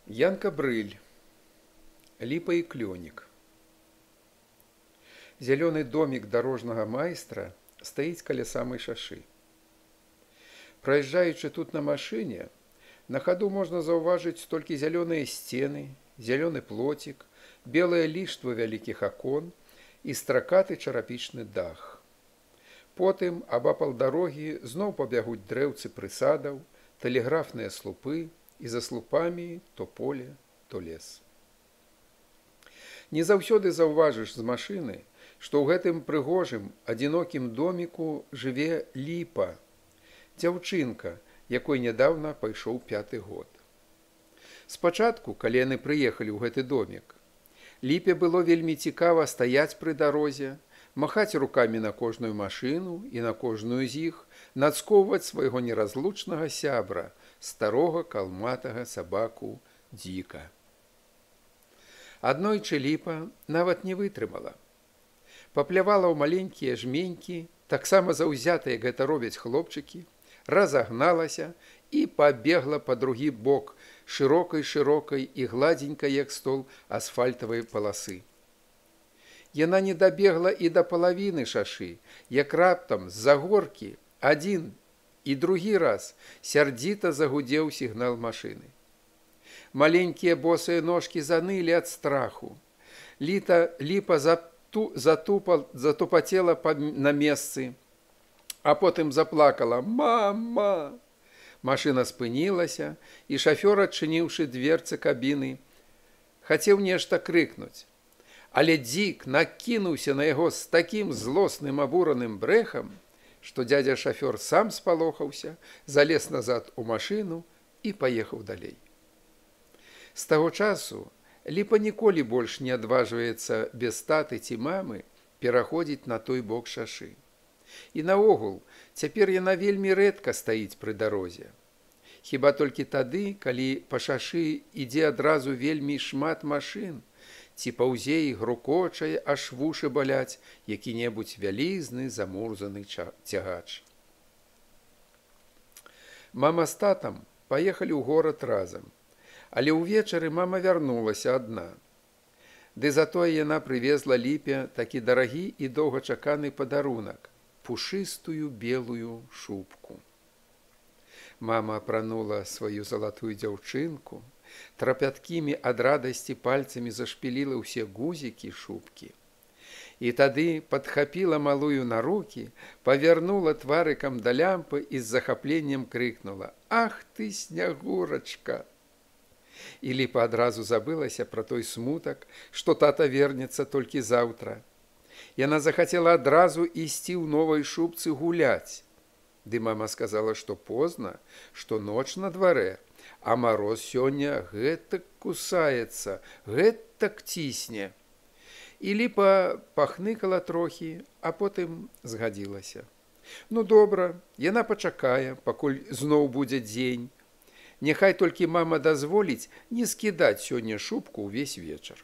Янка Брыль. Липа и клёнік. Зялёны домік дарожнага майстра стаіць каля самай шашы. Праязджаючы тут на машыне, на хаду можна заўважыць толькі зялёныя сцены, зялёны плоцік, белае ліштва вялікіх акон і стракаты чарапічны дах. Потым абапал дарогі зноў пабягуць дрэўцы прысадаў, тэлеграфныя слупы, і за слупамі то поле, то лес. Не заўсёды заўважыш з машыны, што ў гэтым прыгожым, адзінокім доміку жыве Ліпа, дзяўчынка, якой нядаўна пайшоў 5-ы год. Спачатку, калі яны прыехалі ў гэты домік, Ліпе было вельмі цікава стаяць пры дарозе, махаць рукамі на кожную машыну і на кожную з іх, нацкоўваць свайго неразлучнага сябра, старога калматага сабаку Дзіка. Аднойчы Ліпа нават не вытрымала. Паплявала ў маленькія жменькі, таксама заўзятыя гэта робяць хлопчыкі, разагналася і пабегла па другі бок шырокай і гладзенькай, як стол, асфальтавай паласы. Яна не дабегла і да палавіны шашы, як раптам з-за горкі адзін і другі раз сярдзіта загудзеў сігнал машыны. Маленькія босыя ножкі занылі ад страху. Ліпа затупацела на месцы, а потым заплакала: «Мама!». Машына спынілася, і шафёр, адчыніўшы дверцы кабіны, хацеў нешта крыкнуць. Але Дзік накінуўся на яго з такім злосным абураным брэхам, што дзядзя шафёр сам спалохаўся, залез назад у машыну і паехаў далей. З таго часу Ліпа ніколі больш не адважваецца без таты ці мамы пераходзіць на той бок шашы. І наогул, цяпер яна вельмі рэдка стаіць пры дарозе. Хіба толькі тады, калі па шашы ідзе адразу вельмі шмат машын, ці паўзе і грукочае, аж вушы баляць які-небудзь вялізны замурзаны цягач. Мама з татам паехалі ў горад разам, але ўвечары мама вярнулася адна. Ды затое яна прывезла Ліпе такі дарагі і доўгачаканы падарунак – пушыстую белую шубку. Мама апранула сваю залатую дзяўчынку, трапяткімі ад радасці пальцамі зашпіліла ўсе гузікі шубкі. І тады падхапіла малую на рукі, павярнула тварыкам да лямпы і з захапленнем крыкнула: «Ах ты, снягурачка!» І Ліпа адразу забылася пра той смутак, што тата вернецца толькі заўтра. Яна захацела адразу ісці ў новай шубцы гуляць. Ды мама сказала, што позна, што ноч на дварэ, а мароз сёння гэтак кусаецца, гэтак цісне. І Ліпа пахныкала трохі, а потым згадзілася. Ну добра, яна пачакае, пакуль зноў будзе дзень. Няхай толькі мама дазволіць не скідаць сёння шубку ўвесь вечар.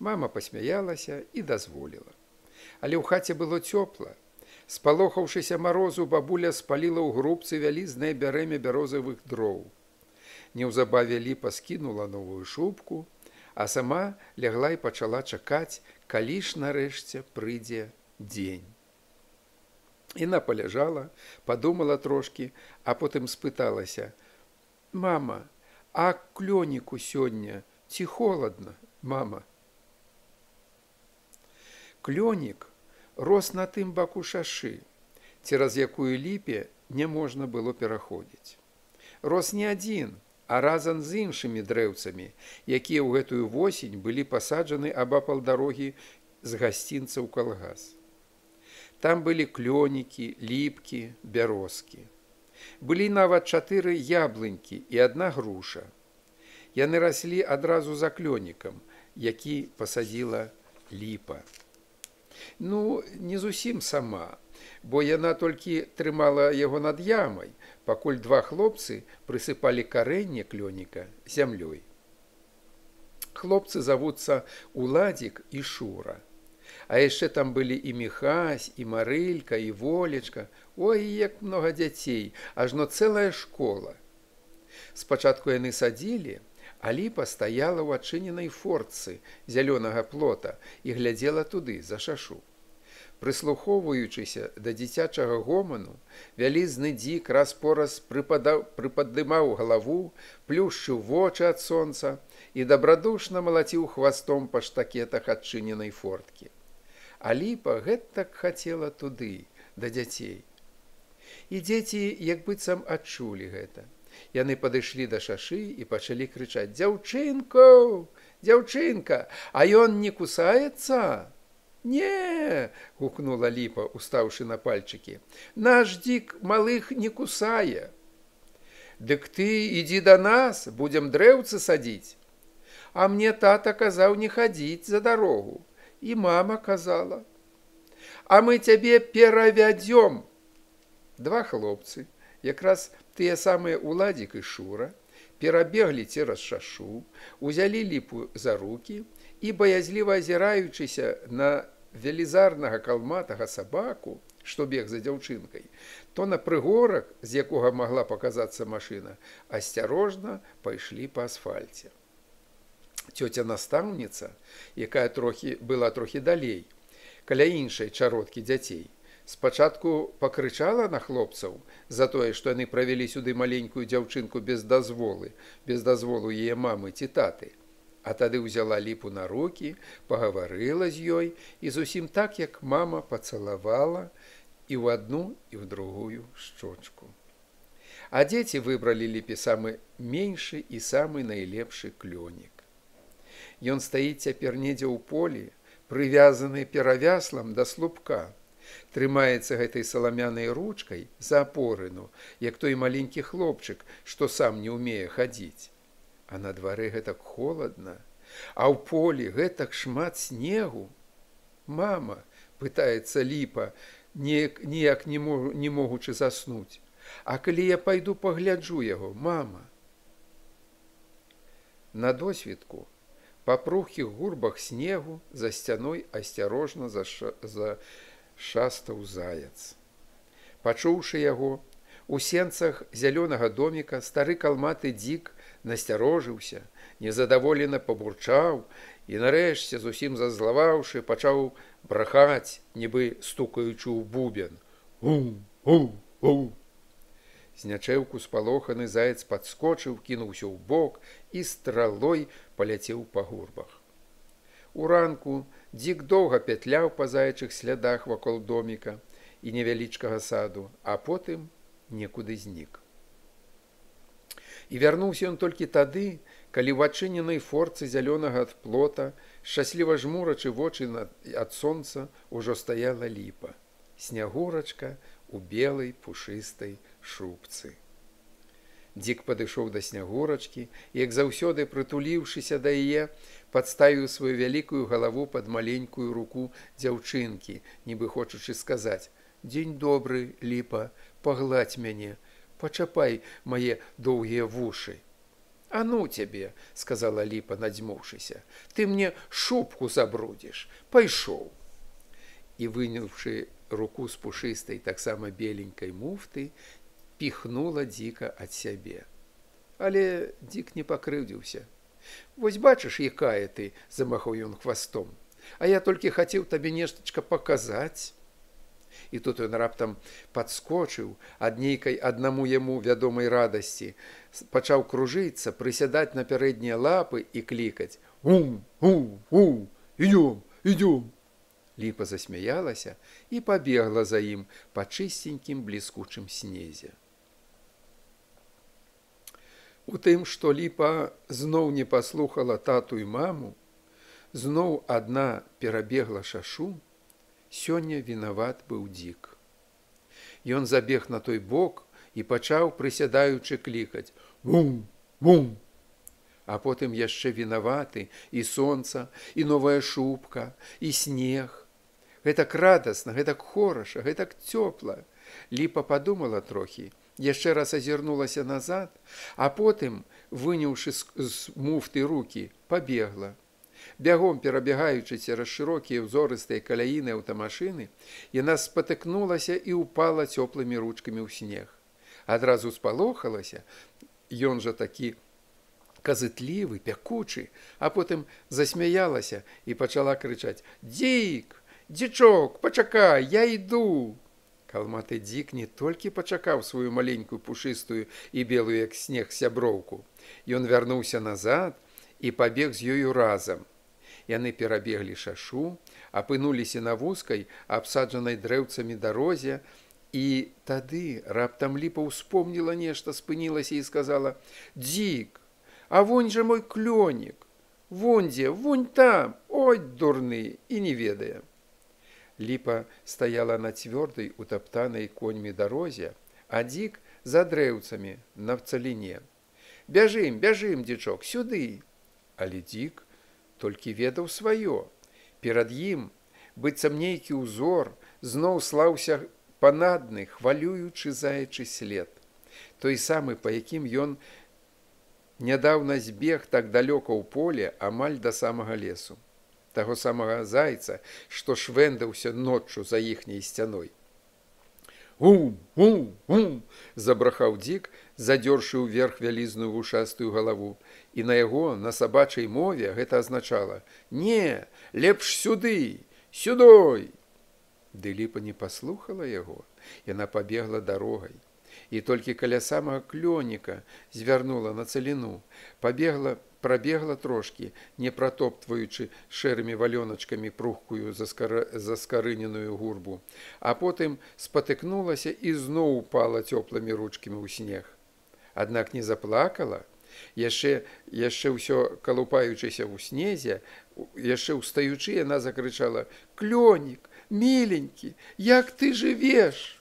Мама пасмяялася і дазволіла. Але ў хаце было цёпла. Спалохаўшыся марозу, бабуля спаліла ў грубцы вялізнае бярэмя бярозавых дроў. Неўзабаве Ліпа скінула новую шубку, а сама лягла і пачала чакаць, калі ж нарэшце прыйдзе дзень. Яна паляжала, падумала трошкі, а потым спыталася: «Мама, а клёніку сёння ці холадна, мама?» Клёнік рос на тым баку шашы, цераз якую Ліпе не можна было пераходзіць. Рос не адзін, а разам з іншымі дрэўцамі, якія ў гэтую восень былі пасаджаны абапал дарогі з гасцінца ў калгас. Там былі клёнікі, ліпкі, бярозкі. Былі нават 4 яблынькі і 1 груша. Яны раслі адразу за клёнікам, які пасадзіла Ліпа. Ну, не зусім сама, бо яна толькі трымала яго над ямай, пакуль 2 хлопцы прысыпалі карэнне клёніка зямлёй. Хлопцы завуцца Уладзік і Шура. А яшчэ там былі і Міхась, і Марылька, і Волечка. Ой, як многа дзяцей, ажно цэлая школа. Спачатку яны садзілі, А ліпа стаяла ў адчыненай фортцы зялёнага плота і глядзела туды, за шашу. Прыслухоўваючыся да дзіцячага гоману, вялізны дзік раз-пораз прыпадымаў галаву, плюшчыў вочы ад сонца і дабрадушна малаціў хвастом па штакетах адчыненай форткі. А ліпа гэтак хацела туды, да дзяцей. І дзеці як быццам адчулі гэта. Яны падышлі да шашы і пачалі крычаць: «Дзяўчынко, дзяўчынка, а ён не кусаецца?» «Не!» – гукнула ліпа, устаўшы на пальчыкі. «Наш дзік малых не кусае». «Дык ты ідзі да нас, будзем дрэўцы садзіць». «А мне тата казаў не хадзіць за дарогу, і мама казала». «А мы цябе перавядзём». Два хлопцы, якраз тыя самыя Уладзік і Шура, перабеглі цераз шашу, узялі ліпу за рукі і, баязліва азіраючыся на велізарнага калматага сабаку, што бег за дзяўчынкай, то на прыгорак, з якога магла паказацца машына, асцярожна пайшлі па асфальце. Цёця настаўніца, якая была трохі далей, каля іншай чародкі дзяцей, спачатку пакрычала на хлопцаў за тое, што яны правялі сюды маленькую дзяўчынку без дазволу яе мамы ці таты. А тады ўзяла ліпу на рукі, пагаварыла з ёй і зусім так, як мама, пацалавала і ў адну, і ў другую шчочку. А дзеці выбралі ліпе самы меншы і самы найлепшы клёнік. Ён стаіць цяпер недзе ў полі, прывязаны перавяслам да слупка, трымаецца гэтай саламянай ручкай за апорыну, як той маленькі хлопчык, што сам не ўмее хадзіць. А на дварэ гэтак холадна, а ў полі гэтак шмат снегу. «Мама», – пытаецца ліпа, ніяк не могучы заснуць, «а калі я пайду пагляджу яго, мама?» На досвітку па прухкіх гурбах снегу за сцяной асцярожна зашастаў заяц. Пачуўшы яго, у сенцах зялёнага доміка стары калматы дзік насцярожыўся, незадаволена пабурчаў і нарэшце, зусім зазлаваўшы, пачаў брахаць, нібы стукаючы ў бубен. «У-у-у!» Знячэўку спалоханы заяц падскочыў, кінуўся ў бок і стралой паляцеў па гурбах. Уранку дзік доўга пятляў па заячых слядах вакол доміка і невялічкага саду, а потым некуды знік. І вярнуўся ён толькі тады, калі ў адчыненай фортцы зялёнага ад плота, шчасліва жмурачы вочы ад сонца, ужо стаяла ліпа, снягурачка у белай пушыстай шубцы. Дзік падышоў да снягурачкі, як заўсёды прытуліўшыся да яе, падставіў сваю вялікую галаву пад маленькую руку дзяўчынкі, нібы хочучы сказаць: «Дзень добры, ліпа, пагладзь мяне, пачапай мае доўгія вушы». «А ну цябе», – сказала ліпа, надзьмуўшыся, «ты мне шубку забрудзіш, пайшоў». І, выняўшы руку з пушыстай, таксама беленькай муфты, піхнула дзіка ад сябе. Але дзік не пакрыўдзіўся. «Вось бачыш, якая ты», – замахаў ён хвастом, «а я толькі хацеў табе нештачка паказаць». І тут ён раптам падскочыў ад нейкай аднаму яму вядомай радасці, пачаў кружыцца, прысядаць на пярэднія лапы і клікаць: «У-у-у! Ідём, ідём!» Ліпа засмяялася і пабегла за ім па чыстенькім бліскучым снезе. У тым, што ліпа зноў не паслухала тату і маму, зноў адна перабегла шашу, сёння вінават быў дзік. Ён забег на той бок і пачаў, прысядаючы, клікаць: «Бум-бум!» А потым яшчэ вінаваты і сонца, і новая шубка, і снег. Гэтак радасна, гэтак хораша, гэтак цёпла. Ліпа падумала трохі, яшчэ раз азірнулася назад, а потым, выняўшы з муфты рукі, пабегла. Бягом перабегаючы цераз шырокія ўзорыстыя каляіны аўтамашыны, яна спатыкнулася і ўпала цёплымі ручкамі ў снег. Адразу спалохалася, ён жа такі казытлівы, пякучы, а потым засмяялася і пачала крычаць: «Дзік! Дзічок, пачакай, я іду!» Калматы дзік не толькі пачакаў сваю маленькую пушыстую і белую, як снег, сяброўку. Ён вярнуўся назад і пабег з ёю разам. Яны перабеглі шашу, апынуліся на вузкай, абсаджанай дрэўцамі дарозе, і тады раптам Ліпа ўспомніла нешта, спынілася і сказала: «Дзік, а вонь жа мой клёнік! Вон дзе, вон там! Ой, дурны!» І не ведае. Ліпа стаяла на цвёрдай, утаптанай коньмі дарозе, а дзік за дрэўцамі на цаліне. «Бяжым, бяжым, дзічок, сюды!» Але дзік толькі ведаў сваё. Перад ім, быццам нейкі ўзор, зноў слаўся панадны, хвалюючы заячы след. Той самы, па якім ён нядаўна збег так далёка ў поле, амаль да самага лесу. Таго самага зайца, што швэндаўся ноччу за іхняй сцяной. «Гум, гум, гум!» – забрахаў дзік, задзёршы ўверх вялізную вушастую галаву. І на яго, на сабачай мове, гэта азначала: «Не, лепш сюды, сюдой!» Ды Ліпа не паслухала яго, яна пабегла дарогай. І толькі каля самага клёніка звярнула на цаліну, прабегла трошкі, не пратоптваючы шэрымі валёначкамі пругкую заскарыненую гурбу, а потым спатыкнулася і зноў упала цёплымі ручкамі ў снег. Аднак не заплакала, яшчэ ўсё калупаючыся ў снезе, яшчэ ўстаючы, яна закрычала: «Клёнік, міленькі, як ты жывеш?»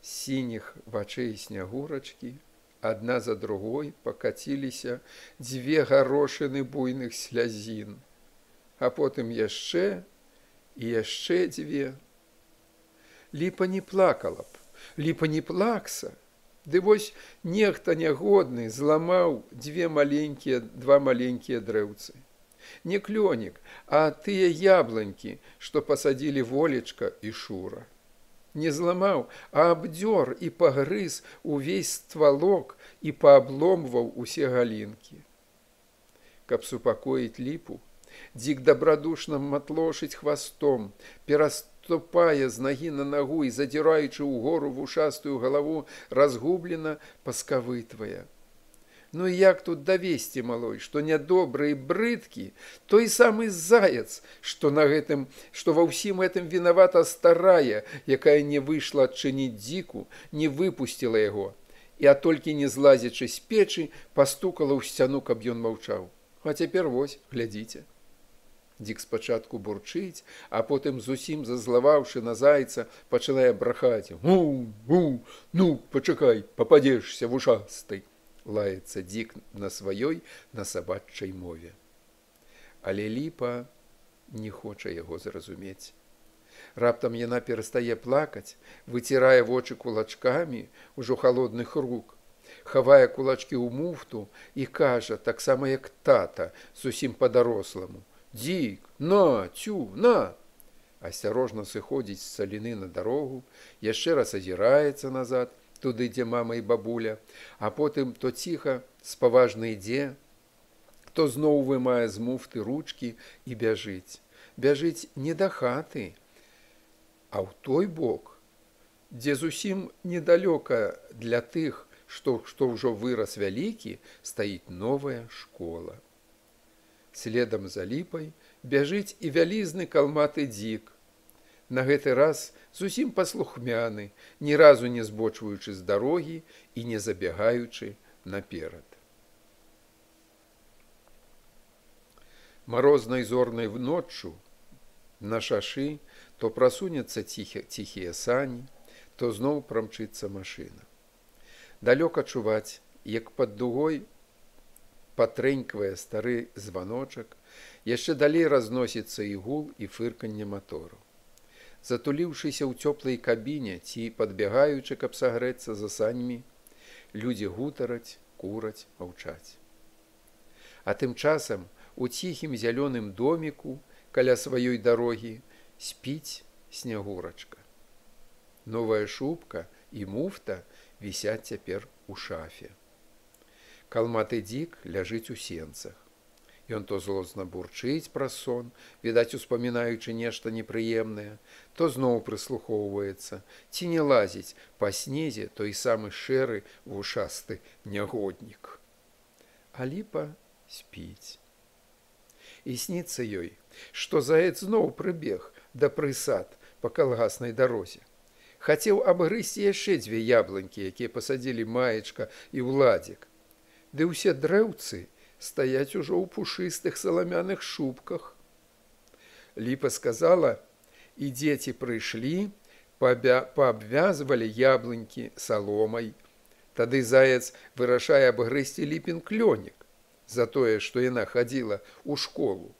З сініх вачэй снягурачкі адна за другой пакаціліся дзве гарошыны буйных слязін, а потым яшчэ і яшчэ дзве. Ліпа не плакала б, Ліпа не плакса, ды вось нехта нягодны зламаў два маленькія дрэўцы. Не клёнік, а тыя яблонькі, што пасадзілі Волечка і Шура. Не зламаў, а абдзёр і пагрыз увесь ствалок і паабломваў усе галінкі. Каб супакоіць Ліпу, дзік дабрадушна матлошыць хвастом, пераступае з нагі на нагу і, задзіраючы ўгору вушастую галаву, разгублена паскавытвае. Ну і як тут давесці, малой, што нядобры і брыдкі той самы заяц, што ва ўсім гэтым вінавата старая, якая не выйшла адчыніць дзіку, не выпусціла яго, а толькі не злазячы з печы, пастукала ў сцяну, каб ён маўчаў. А цяпер вось, глядзіце. Дзік спачатку бурчыць, а потым, зусім зазлаваўшы на зайца, пачала брахаць: «Гу, гу, ну, пачакай, пападзешся вушастай!» Лаецца дзік на сваёй, на сабачай мове. Але Ліпа не хоча яго зразумець. Раптам яна перастае плакаць, выцірае вочы кулачкамі ўжо халодных рук, хавае кулачкі ў муфту і кажа, таксама як тата, зусім па-даросламу: «Дзік, на, цю, на!» Асцярожна сыходзіць з цаліны на дарогу, яшчэ раз азіраецца назад, туды, дзе мама і бабуля, а потым то ціха, спаважна ідзе, то зноў вымае з муфты ручкі і бяжыць. Бяжыць не да хаты, а ў той бок, дзе зусім недалёка для тых, што ўжо вырас вялікі, стаіць новая школа. Следам за Ліпай бяжыць і вялізны калматы дзік. На гэты раз зусім паслухмяны, ні разу не збочваючы з дарогі і не забягаючы наперад. Марознай зорнай ноччу на шашы то прасунецца ціхія сані, то зноў прамчыцца машына. Далёка чуваць, як пад дугой патрэньквае стары званочак, яшчэ далей разносіцца і гул, і фырканне матору. Затуліўшыся ў цёплай кабіне ці падбягаючы, каб сагрэцца за саньмі, людзі гутараць, кураць, маўчаць. А тым часам у ціхім зялёным доміку каля сваёй дарогі спіць снягурачка. Новая шубка і муфта вісяць цяпер у шафе. Калматы дзік ляжыць у сенцах. Ён то злосна бурчыць праз сон, відаць, успамінаючы нешта непрыемнае, то зноў прыслухоўваецца, ці не лазіць па снезе той самы шэры вушасты нягоднік. А ліпа спіць. І сніцца ёй, што заяц зноў прыбег да прысад па калгаснай дарозе. Хацеў абгрызці яшчэ 2 яблонькі, якія пасадзілі Маечка і Уладзік. Ды ўсе дрэўцы стаяць ужо ў пушыстых саламяных шубках. Ліпа сказала, і дзеці прыйшлі, паабвязвалі яблонькі саломай. Тады заяц вырашае абгрызці Ліпін клёнік за тое, што яна хадзіла ў школу.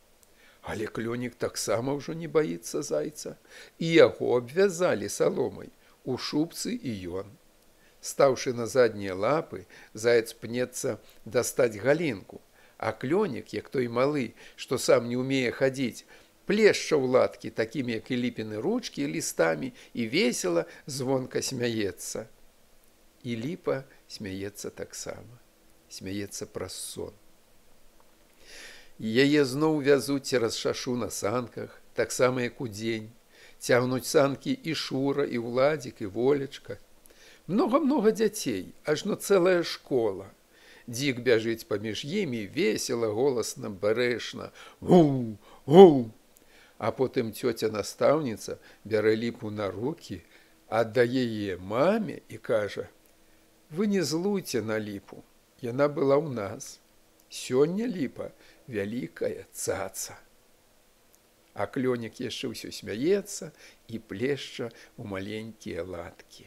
Але клёнік таксама ўжо не баіцца зайца, і яго абвязалі саломай у шубцы і ён. Стаўшы на заднія лапы, заяц пнецца дастаць галінку, а клёнік, як той малы, што сам не ўмее хадзіць, плешча ў латкі такімі, як і Ліпіны ручкі, лістамі і весела звонка смяецца. І Ліпа смяецца таксама, смяецца праз сон. Яе зноў вязуць цераз шашу на санках, таксама як удзень. Цягнуць санкі і Шура, і Уладзік, і Волечка. Многа-многа дзяцей, ажно цэлая школа. Дзік бяжыць паміж імі, весела, голасна, бярэшна. Гу, гу! А потым цёця-настаўніца бярэ Ліпу на рукі, аддае яе маме і кажа: «Вы не злуйце на Ліпу, яна была ў нас. Сёння Ліпа вялікая цаца». А клёнік яшчэ ўсё смяецца і плешча ў маленькія латкі.